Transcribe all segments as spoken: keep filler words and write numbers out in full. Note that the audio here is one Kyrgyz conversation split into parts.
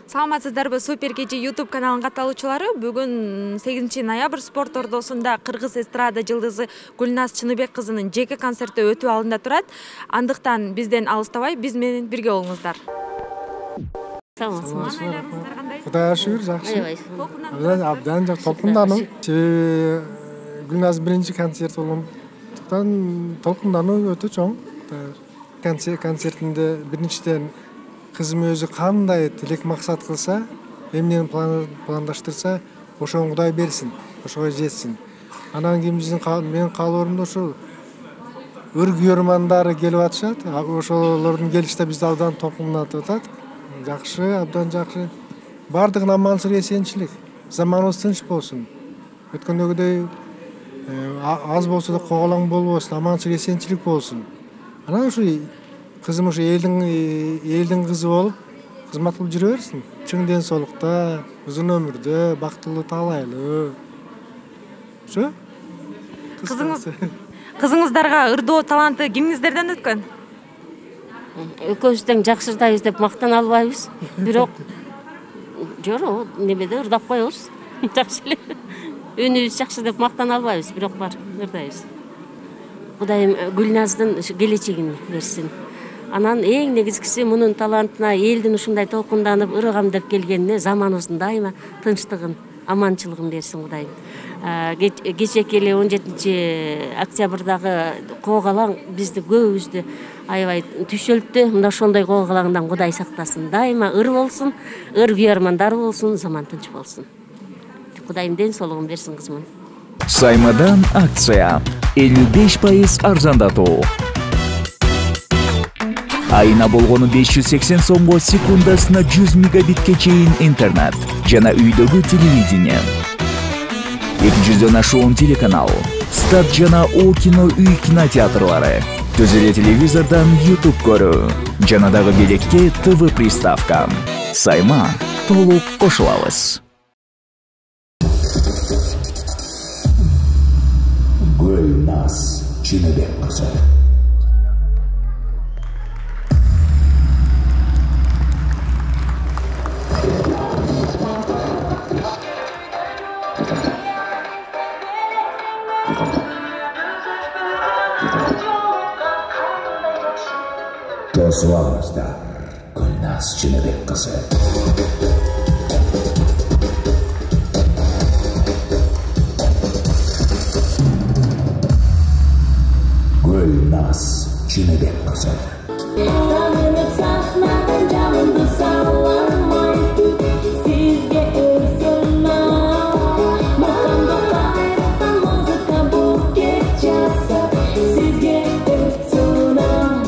Саламатсыздарбы, Супер кечи YouTube каналынын катталуучулары. Бүгүн сегизинчи ноябрь спорт ордосунда кыргыз эстрада жылдызы Гүлназ Чыныбек кызынын жеке концерти өтүү алдында турат. Андыктан бизден алыстабай, биз менен бирге болуңуздар. Саламатсыздар кандай? Кудайга шүгүр, жакшы. Абдан жакшы толкундануу. Себеби Гүлназ биринчи концерт болгондуктан толкундануу өтө чоң. Концертинде биринчиден кызым өзү кандай тилек максат кылса, эмнени пландаштырса, ошону Кудай берсин, ошого жетсин. Анан кийин биздин менин каалоорумда ошол өр күйөрмандары келип атышат. Ошолордун келиште бизди абдан толкундатып атат. Жакшы, абдан жакшы. Бардыгына амансыз эсенчилик. Заманыбыз тынч болсун. Өткөндөгүдөй аз болсо да коголоң болбосун, амансыз эсенчилик болсун. Анан ушу кызым ушу элдин элдин кызы болуп, кызмат кылып жүрө берсин. Чың ден соолукта, узун өмүрдө, бактылуу, таалайлуу. Ошо? Кызыңыз Кызыңыздарга ырдоо таланты кимиңиздерден өткөн? Экөөбүз тең жакшырдайбыз деп мактана албайбыз. Бирок жок, немеде ырдап коебуз. Жакшы эле. Үнүбүз жакшы деп мактана албайбыз, бирок бар, ырдайбыз. Кудайым Гүлназдын келечегин берсин. Анан эң негизгиси мунун талантына элдин ушундай толкунданып ыргам деп келгенине заманыбыздын дайыма тынчтыгын, аманчылыгын берсин Кудайым. Кечээки эле он жетинчи октябрдагы коогалаң бизди көбүбүздү аябай түшөлттү. Мына ошондой коогалаңдан Кудай сактасын. Дайыма ыр болсун, ыр күйөрмандар болсун, заман тынч болсун. Кудайым ден соолугун берсин кызымын. Саймадан акция элүү беш пайыз арзандатуу. Айына болгону беш жүз сексен сомго секундасына жүз мегабитке чейин интернет жана үйдөгү телевидение. эки жүздөн ашуун телеканал, Стат жана О кино үй кинотеатрлары, түз эле телевизордон YouTube көрүү, жана дагы белекке ТВ приставка. Сайма толук кошулабыз. Гүлназ Чыныбек кызы. Тосулаңыздар, Гүлназ Чыныбек кызы. Gülnaz Çınıbek kızı. Sanırım sakladın canımı sallamay, sizge ısınmam. Makamda kaybettim mızıka bu geçerse, sizge ısınmam.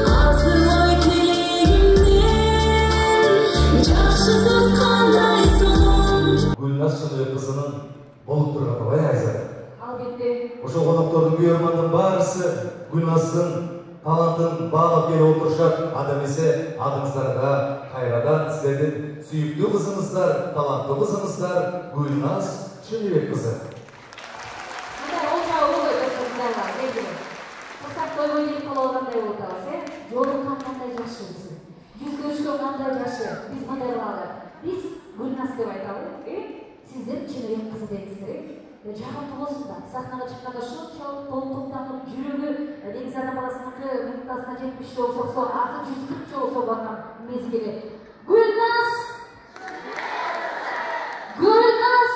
Asılay kileğimden, çarşısız kandaysın. Gülnaz Çınıbek kızının bolup durganı bay ayzat. Ошо коноктордун күйөрмандын баарысы Гүлназдын талантын баалап келип отурушат. Анда эмесе адыңыздарга кайрадан силердин сүйүктүү кызыңыздар, таланттуу кызыңыздар Гүлназ Чыныбек кызы. Мындай олжа болбой достордорго белгилүү. Кырсак тойгой келип кала алгандай болуп калабыз, э? Жолуккан кандай жакшы биз. Жүз көрүшкөн кандай жакшы. Биз мындай кылалы. Биз Гүлназ деп айталы, э? Сиздер Чыныбек кызы дейсиздер, э? Жагымдуу болсун да, сахнага чыкканда ушунчалык толкунданып, жүрөгү негизи ата баласыныкы минутасына жетимиш жолу соксо, азыр жүз кырк жолу согулган мезгили. Гүлназ! Гүлназ!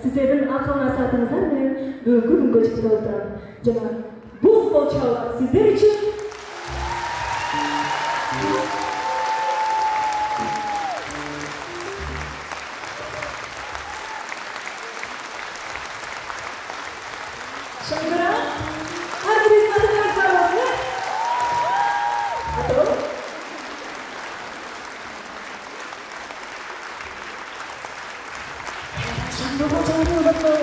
Sizlerin akılına satınızlar ve bugün gün geçti olduran. Canım, bu bolçalar sizler için Шаңгырак. Әрбіріңіз атыңыз бар болсын. Атау. Шаңгырак жағыңыз атау.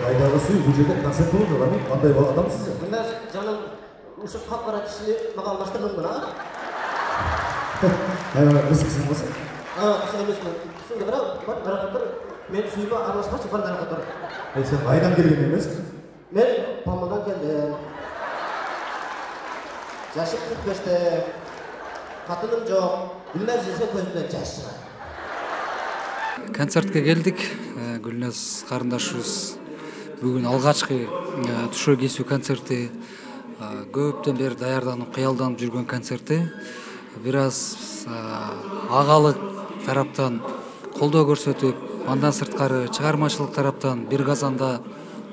Айдағысы бұл жерде концерт болды, ғами қандай адамсыз ya? Мен жаным ұшып қап-қара кішілі маған алмаштырдың бұна? Мысықсың болса? Мысық емесін. Сұңды бірақ, бар дарақаттар, мен сүйіме араласпашы, бар дарақаттар. Сен қайдан келген емессің? Мен Палмадан келдім. Жашым қырық беште, қатыным жоқ, Гүлназ жесе көзімден жаш шығады. Концертке келдік, Гүлназ қарындашыбыз бүгін алғашқы тушо кесүү концерти, көптен бері даярданып, кыялданып жүргөн концерти. Бир аз агалы тараптан колдоо көрсөтүп, андан сырткары чыгармачылык тараптан бир казанда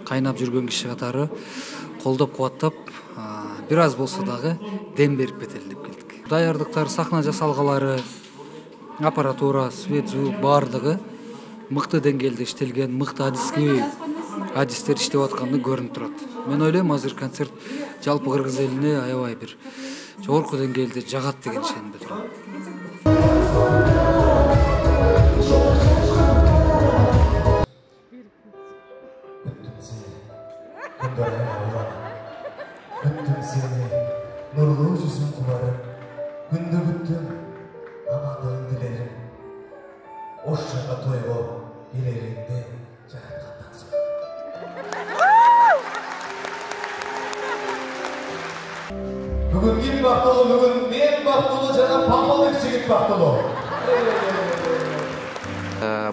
кайнап жүргөн киши катары колдоп кубаттап, бир аз болсо дагы дем берип кетели деп келдик. Даярдыктар, сахна жасалгалары, аппаратура, свет, звук баардыгы мыкты деңгээлде иштелген, мыкты адиски адистер иштеп атканы көрүнүп турат. Мен ойлойм, азыр концерт жалпы кыргыз элине аябай бир жогорку деңгээлде жагат деген ишенимде турам. Күттім сені, нұрлы жүзін құларым, күнді күттім, амандығын дилерим. Ош жаға тойго келеріңді жаратқандан соң. Бүгін ким бактылуу, бүгін мен бактылуу жана Памалдык жигит бактылуу.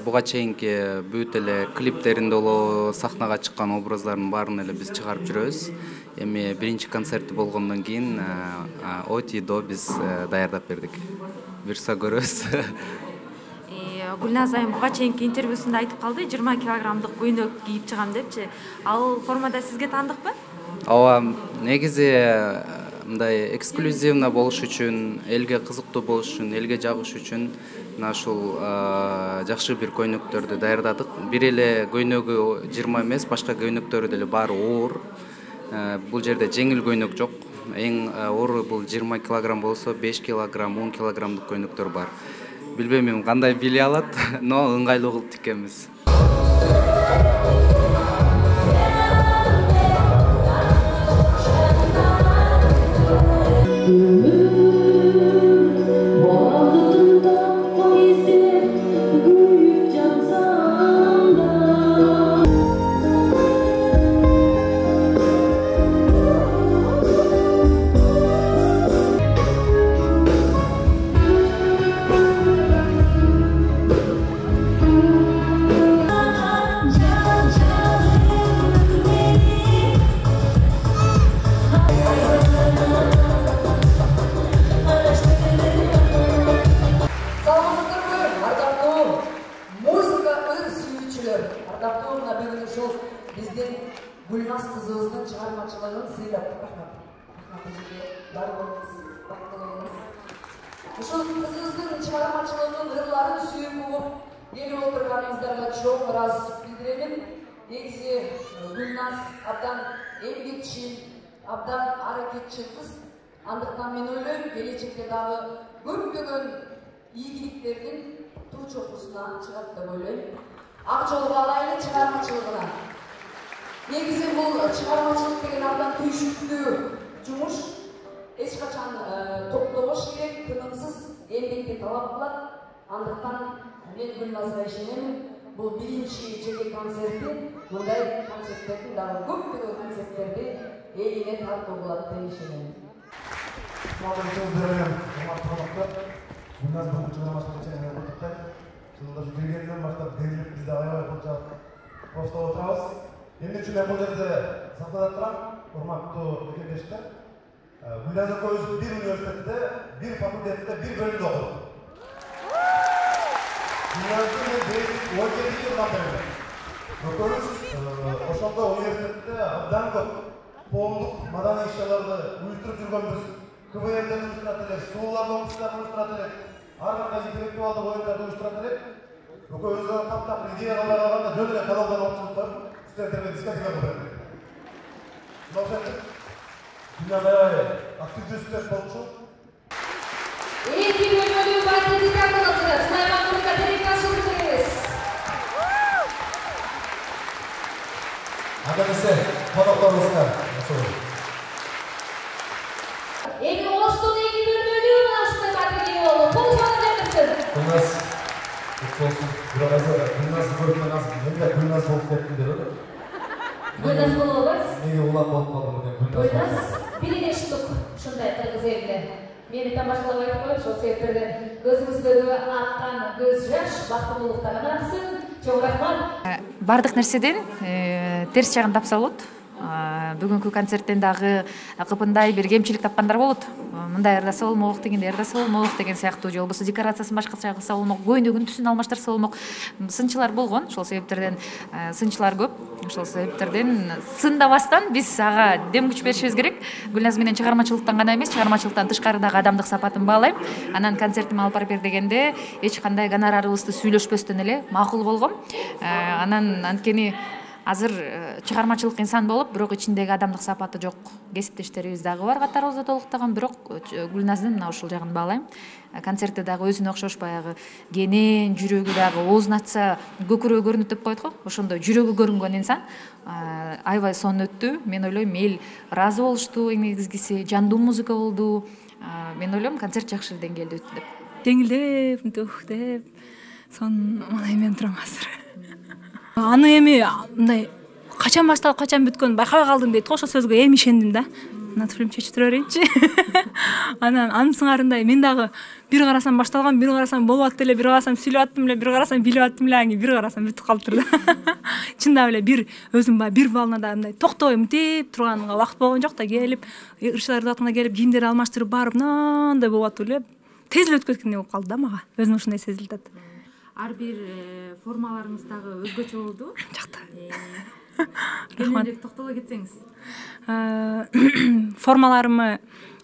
Буга чейинки бүт эле клиптеринде болобу, сахнага чыккан образдардын баарын эле биз чыгарып жүрөбүз. Эми биринчи концерти болгондон кийин Отидо биз даярдап бердик. Буюрса көрөбүз. Гүлназ айым буга чейинки интервьюсунда айтып калды, жыйырма килограммдык көйнөк кийип чыгам депчи. Ал формада сизге тандыкпы? Ооба, негизи мындай эксклюзивно болуш үчүн, элге кызыктуу болуш үчүн, элге жагыш үчүн мына ушул жакшы бир көйнөктөрдү даярдадык. Бир эле көйнөгү жыйырма эмес, башка көйнөктөрү деле баары оор. Бул жерде жеңил көйнөк жок. Эң оору бул жыйырма килограмм болсо, беш килограмм, он килограммдык көйнөктөр бар. Билбейм эми кандай биле алат, но ыңгайлуу кылып тиккенбиз. Гүлназ кызыбыздын чыгармачылыгын сыйлап ушул кызыбыздын чыгармачылыгынын ырларын сүйүп угуп келип отурганыңыздарга чоң ыраазычылык билдиремин. Негизи Гүлназ абдан эмгекчил, абдан аракетчил кыз. Андыктан мен ойлойм, келечекте дагы көптөгөн ийгиликтердин туу чокусуна чыгат деп ойлойм. Ак жолго алайлы чыгармачылыгына. Негизи бул чыгармачылык деген абдан түйшүктүү жумуш. Эч качан топтобош керек, тынымсыз эмгекти талап кылат. Андыктан мен Гүлназга ишенемин. Бул биринчи жеке концерти. Мындай концерттердин дагы көптөгөн концерттерди элине тартуу кылат деп ишенемин. Гүлназ бүгүн чыгармачылык чейин куттуктайт. Жылдаш келгенден баштап берилип бизде аябай кылча просто отурабыз. Эмне үчүн мен бул жерде сахнада турам, урматтуу мекендештер. Гүлназ экөөбүз бир университетте, бир факультетте, бир бөлүмдө окудук. Гүлназды мен он жети жылдан бери. Экөөбүз ошондо университетте абдан көп коомдук маданий иш-чараларды уюштуруп жүргөнбүз. КВН'ден уюштурат элек, сууларды окуштарын уюштурат элек, ар кандай интеллектуалдык оюндарды уюштурат элек. Өкөөбүздөн таптап идеялар алганда жөн эле каналдан окутуп барып, студенттерге дискотека кылып берет. Мынау дүйнөдө аябай активдүү студент болчу. Эки бөлмөлүү батири тартылды. Сулайман Муртка телефон беребиз. Адамисе, конокторубузга Эми Оштун эки бөлмөлүү ушундай батири болду. Кол чалып У нас Гүлназ көрүнөн аз, менде Гүлназ болуп кеттим деп эле. Гүлназ болуп албайсыз? Неге улам болуп калдым деген Гүлназ. Гүлназ бир эштик ушундай кыргыз элинде. Мени тамашалап айтып коюп, ошол себептерден көзүңүздөгү аккан көз жаш бактылуулуктан аксын. Чоң рахмат. Бардык нерседен терс жагын тапса болот. Бүгүнкү концерттен дагы кыпындай бир кемчилик тапкандар болот. Мындай ырдаса болмок, дегенде ырдаса болмок деген сыяктуу, же болбосо декорациясын башкача кылса болмок, көйнөгүн түсүн алмаштырса болмок. Сынчылар болгон. Ошол себептерден сынчылар көп. Ошол себептерден сындабастан биз ага дем күч беришибиз керек. Гүлназ менен чыгармачылыктан гана эмес, чыгармачылыктан тышкарыдагы адамдык сапатын баалайм. Анан концертиме алып барып бер дегенде эч кандай гонорарыбызды сүйлөшпөстөн эле макул болгом. Анан анткени азыр чыгармачылык инсан болуп, бирок ичиндеги адамдык сапаты жок кесиптештерибиз дагы бар катарыбызда толуктаган, бирок Гүлназдын мына ушул жагын баалайм. Концертте дагы өзүнө окшош баягы кенен, жүрөгү дагы оозун ачса көкүрөгү көрүнөт деп коет го. Ошондой жүрөгү көрүнгөн инсан. Аябай сонун өттү. Мен ойлойм, эл ыраазы болушту, эң негизгиси жандуу музыка болду. Мен ойлойм, концерт жакшы деңгээлде өттү деп. Деңилдеп, мынтип деп, сонун мындай мен турам азыр. Аны эми мындай качан башталып, качан бүткөнүн байкабай калдым дейт го, ошол сөзгө эми ишендим да. Мына фильм чечип берейинчи. Анан анын сыңарындай мен дагы бир карасам башталган, бир карасам болуп атты эле, бир карасам сүйлөп аттым эле, бир карасам билип аттым эле, анан бир карасам бүтүп калыптыр да. Чындап эле бир өзүм баягы бир балнада мындай токтобой мынтип турганга убакыт болгон жок да, келип ырчылар ырдатына келип кийимдерди алмаштырып барып мындай болуп атып эле тез эле өтүп кеткендей болуп калды да мага. Өзүм ушундай сезилип атат. Ар бир формаларыңыз дагы өзгөчө болду. Жакта. Кененирээк токтоло кетсеңиз. Формаларымы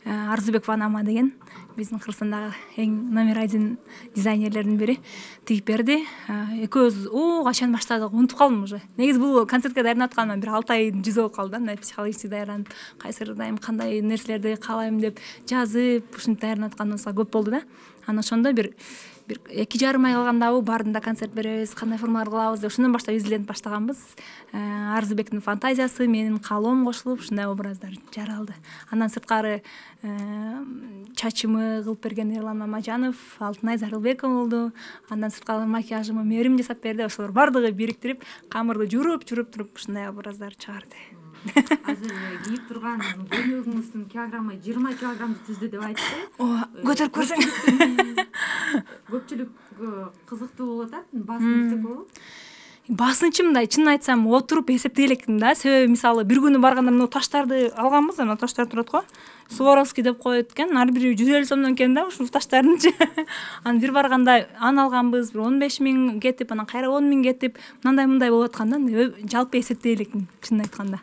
Арзубекова Анама деген биздин Кыргызстандагы эң номер один дизайнерлердин бири тигип берди. Экөөбүз о качан баштадык, унутуп калдым уже. Негизи бул концертке даярданып атканыма бир алты айдын жүзү болуп калды да, мындай психологически даярданып, кайсы ырдайм, кандай нерселерди каалайм деп жазып, ушинтип даярданып атканыбызга көп болду да. Анан ошондо бир бир эки жарым ай калгандабы баарында концерт беребиз, кандай формалар кылабыз деп ошондон баштап изиленип баштаганбыз. Арзубектин фантазиясы, менин каалоом кошулуп, ушундай образдар жаралды. Андан сырткары чачымы кылып берген Эрлан Мамажанов, Алтынай Зарылбекова болду. Андан сырткары макияжымы Мерим жасап берди. Ошолор бардыгы бириктирип, камырды журуп-журуп туруп ушундай образдар чыгарды. Азыр кийип турган көйнөгүңүздүн килограммы жыйырма килограммды түздү деп айтты. Ооба, көтөрүп көрсөң. Көпчүлүк кызыктуу болуп атат. Басын yüksek болуп. Басынчы мындай, чынын айтсам, отуруп эсептей электим да. Себеби мисалы бир күнү барганда мына таштарды алганбыз, мына таштар турат го. Суворовский деп коет экен. Ар бири жүз элүү сомдон экен да, ушул таштардынчы. Анан бир барганда аны алганбыз, бир он беш миң кетип, анан кайра он миң кетип, мындай мындай болуп атканда, жалпы эсептей элекмин, чынын айтканда.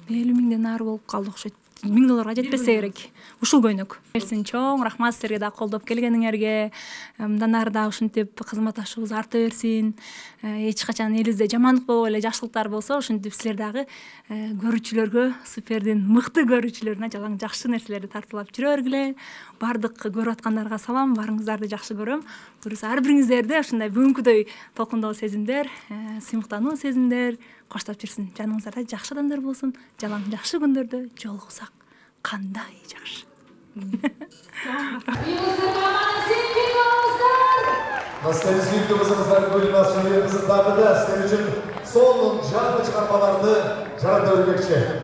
элүү миңден ары болуп калды окшойт. миң долларга жетпесе керек. Ушул көйнөк. Берсин чоң рахмат силерге да колдоп келгениңерге. Мындан ары да ушинтип кызматташуубуз арта берсин. Эч качан элибизде жамандык болбой эле жакшылыктар болсо, ушинтип силер дагы көрүүчүлөргө, супердин мыкты көрүүчүлөрүнө жалаң жакшы нерселерди тартуулап жүрө бергиле. Бардык көрүп аткандарга салам, баарыңыздарды жакшы көрөм. Буюрса ар бириңиздерде ушундай бүгүнкүдөй толкундоо сезимдер, сыймыктануу сезимдер коштоп жүрсүн. Жаныңыздарда жакшы адамдар болсун. Жалаң жакшы күндөрдө жолугсак кандай жакшы. Настали сүйүктүү кызыңыздар Гүлназ Шөнөбек кызы дагы да сиздер үчүн сонун жаңы чыгармаларды жарата өрмөкчү.